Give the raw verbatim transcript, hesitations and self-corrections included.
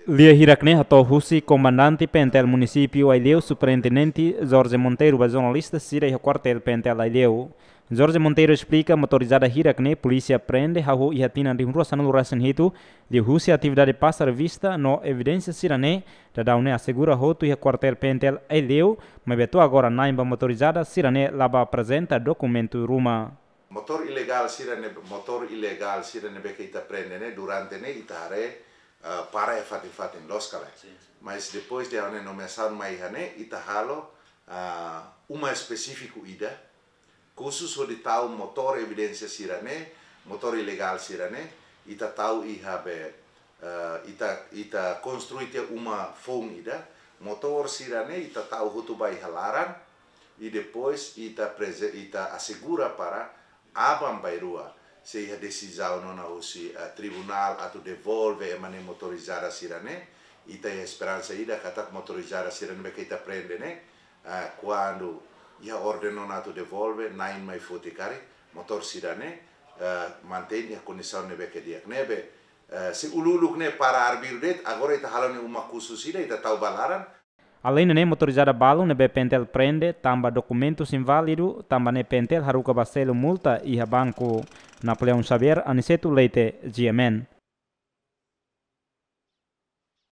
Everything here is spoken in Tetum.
Lia hirak ne'e hato'o husi Komandante PNTL Munisípiu Aileu, Superintendente Jorge Monteiro, ba jornalista sira iha Kuartél PNTL Aileu. Jorge Monteiro esplika, motorizada hirak ne'e polísia prende hahú iha tinan rihun rua sanulu resin hitu, liuhusi atividade pasa revista no evidénsia sira-ne'e, daudaun ne'e asegura hotu iha Kuartél PNTL Aileu, maibé to'o agora na'in ba motorizada sira-ne'e la bá aprezenta dokumentu ruma. Motór ilegál sira ne'e, motór ilegál sira ne'ebé ke ita prende ne'e, durante ne'e ita haree, ah, para iha fatin-fatin, loos ka lae? Sin, sin. Mas depois de ha'u-nia nomeasaun mai iha ne'e, ita halo, ah, uma espesífiku ida, khusus hodi tau motór evidénsia sira-ne'e, motór ilegál sira-ne'e, ita tau iha be, eh, ita, ita konstrui tiha uma foun ida, motór sira-ne'e ita tau hotu ba iha laran, i depois ita preze-, ita asegura para aban-bainrua, se iha desizaun ona husi, eh, tribunál atu devolve ema nia motorizada sira-ne'e, ita iha esperansa ida katak motorizada sira ne'ebé ke ita prende ne'e, eh, kuandu iha orden ona atu devolve, na'in mai foti karik, motór sira-ne'e, eh, mantein iha kondisaun ne'ebé ke di'ak. Ne'ebé, eh, se uluk-uluk ne'e para arbiru de'it, agora ita halo nia uma khusus ida, ita tau ba laran. Aleinde ne'e, motorizada balu ne'ebé PNTL prende tanba dokumentus inválidu, tanba ne'e PNTL haruka ba selu multa iha banku. Napoleão Xavier, Aniceto Leite, G M N.